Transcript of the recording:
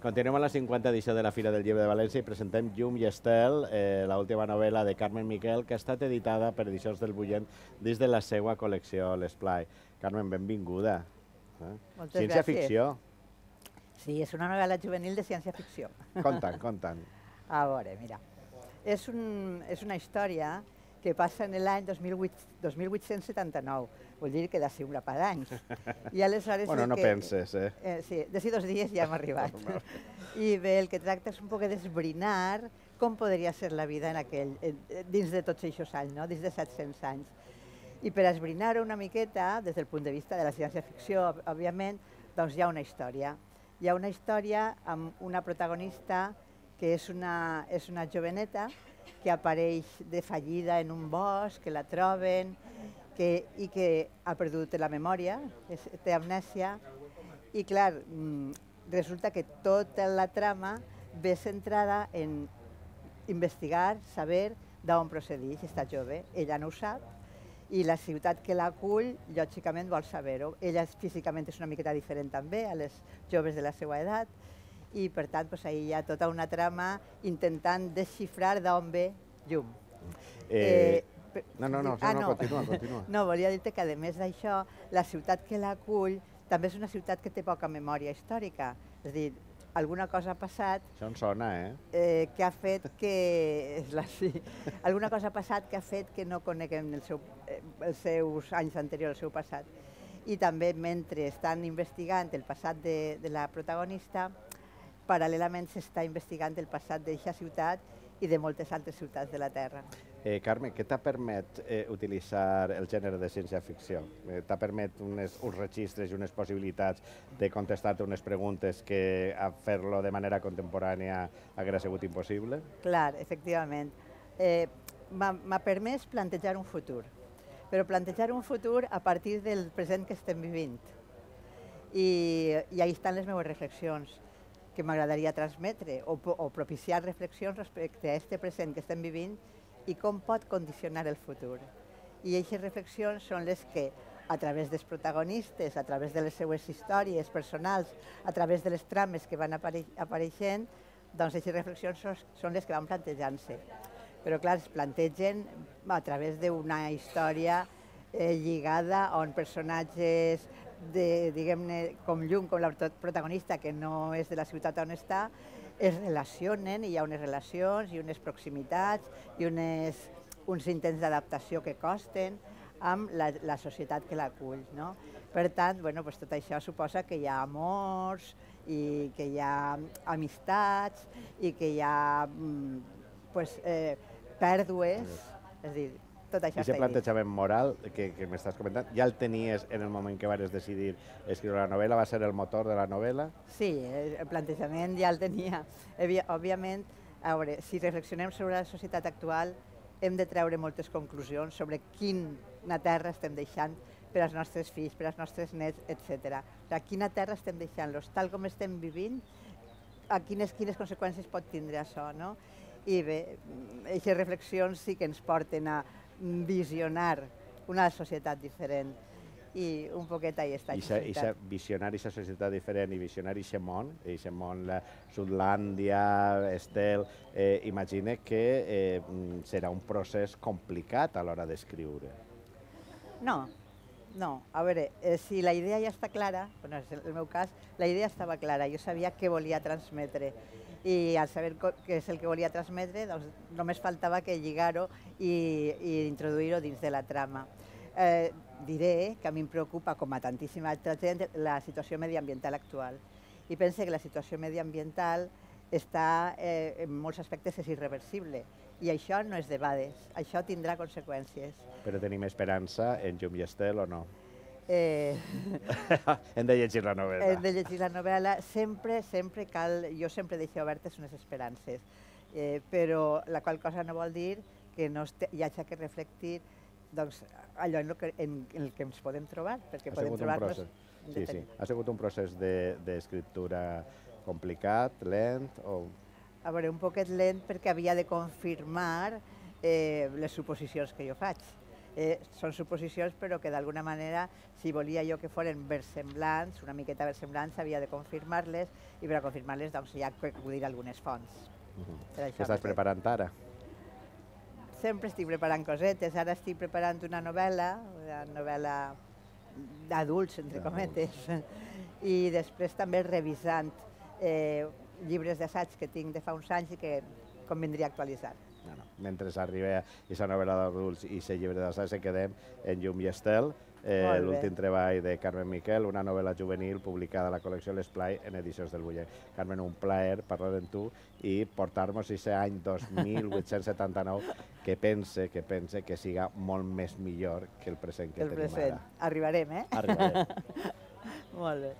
Continuem a la 50 edició de la Fira del Llibre de València i presentem Llum i Estel, l'última novel·la de Carmen Miquel, que ha estat editada per Edicions del Bullent dins de la seva col·lecció L'Esplai. Carmen, benvinguda. Moltes Ciència gràcies. ficció. Sí, és una novel·la juvenil de ciència-ficció. Contant. A veure, mira, és una història que passa en l'any 2879, vol dir que d'ací un grapat d'anys. I aleshores... Bueno, no penses, eh? Sí, d'ací 2 dies ja hem arribat. I bé, el que tracta és un poc d'esbrinar com podria ser la vida dins de tots aquests anys, no? Dins de 700 anys. I per esbrinar-ho una miqueta, des del punt de vista de la ciència-ficció, òbviament, doncs hi ha una història. Hi ha una història amb una protagonista que és una joveneta que apareix de fallida en un bosc, que la troben i que ha perdut la memòria, té amnèsia. I clar, resulta que tota la trama ve centrada en investigar, saber d'on procedeix aquesta jove. Ella no ho sap i la ciutat que l'acull, lògicament, vol saber-ho. Ella físicament és una miqueta diferent també a les joves de la seva edat i, per tant, ahir hi ha tota una trama intentant desxifrar d'on ve Llum. Continua. No, volia dir-te que, a més d'això, la ciutat que l'acull també és una ciutat que té poca memòria històrica. És a dir, alguna cosa ha passat... Això em sona, que ha fet que... Alguna cosa ha passat que ha fet que no coneguem els seus anys anteriors, el seu passat. I també, mentre estan investigant el passat de la protagonista, paral·lelament s'està investigant el passat d'aquesta ciutat i de moltes altres ciutats de la Terra. Carme, què t'ha permet utilitzar el gènere de ciència-ficció? T'ha permet uns registres i unes possibilitats de contestar-te unes preguntes que a fer-lo de manera contemporània hauria sigut impossible? Clar, efectivament. M'ha permès plantejar un futur, però plantejar un futur a partir del present que estem vivint. I ahí estan les meves reflexions que m'agradaria transmetre o propiciar reflexions respecte a aquest present que estem vivint i com pot condicionar el futur. I aquestes reflexions són les que, a través dels protagonistes, a través de les seues històries personals, a través de les trames que van apareixent, doncs aquestes reflexions són les que van plantejant-se. Però clar, es plantegen a través d'una història lligada on personatges diguem-ne, com Llum, com la protagonista, que no és de la ciutat on està, es relacionen i hi ha unes relacions i unes proximitats i uns intents d'adaptació que costen amb la societat que l'acull. Per tant, tot això suposa que hi ha amors i que hi ha amistats i que hi ha pèrdues, és a dir, tot això està I aquest plantejament moral que m'estàs comentant, ja el tenies en el moment que vas decidir escriure la novel·la? Va ser el motor de la novel·la? Sí, el plantejament ja el tenia. Òbviament, a veure, si reflexionem sobre la societat actual, hem de treure moltes conclusions sobre quina terra estem deixant per als nostres fills, per als nostres nets, etc. Quina terra estem deixant-los, tal com estem vivint, quines conseqüències pot tindre això, no? I bé, aquestes reflexions sí que ens porten a visionar una societat diferent i un poquet ahí està. I visionar aquesta societat diferent i visionar aquest món, la Sudlàndia, Estel, imagina que serà un procés complicat a l'hora d'escriure. No. A veure, si la idea ja està clara, en el meu cas, la idea estava clara, jo sabia què volia transmetre i al saber què és el que volia transmetre, doncs només faltava que lligar-ho i introduir-ho dins de la trama. Diré que a mi em preocupa, com a tantíssima altra gent, la situació mediambiental actual. I pense que la situació mediambiental està, en molts aspectes, és irreversible. I això no és debades, això tindrà conseqüències. Però tenim esperança en Llum i Estel o no? Hem de llegir la novel·la. Hem de llegir la novel·la. Sempre cal, jo sempre deixo obertes unes esperances, però la qual cosa no vol dir que no hi hagi que reflectir allò en el que ens podem trobar, perquè podem trobar-nos... Sí. Ha sigut un procés d'escriptura complicat, lent o... A veure, un poquet lent perquè havia de confirmar les suposicions que jo faig. Són suposicions, però que d'alguna manera, si volia jo que foren versemblants, una miqueta versemblants, havia de confirmar-les, i per a confirmar-les doncs, hi ha que acudir a algunes fonts. Què estàs preparant ara? Sempre estic preparant cosetes. Ara estic preparant una novel·la d'adults, entre cometes, i després també revisant llibres d'assaig que tinc de fa uns anys i que convindria actualitzar. Mentre arriba aquesta novel·la d'adults i aquest llibre d'assaig, quedem en Llum i Estel, l'últim treball de Carmen Miquel, una novel·la juvenil publicada a la col·lecció L'Esplai en edicions del Buller. Carmen, un plaer parlar amb tu i portar-nos aquest any 2879 que pense que siga molt més millor que el present que tenim ara. Arribarem, eh? Arribarem. Molt bé.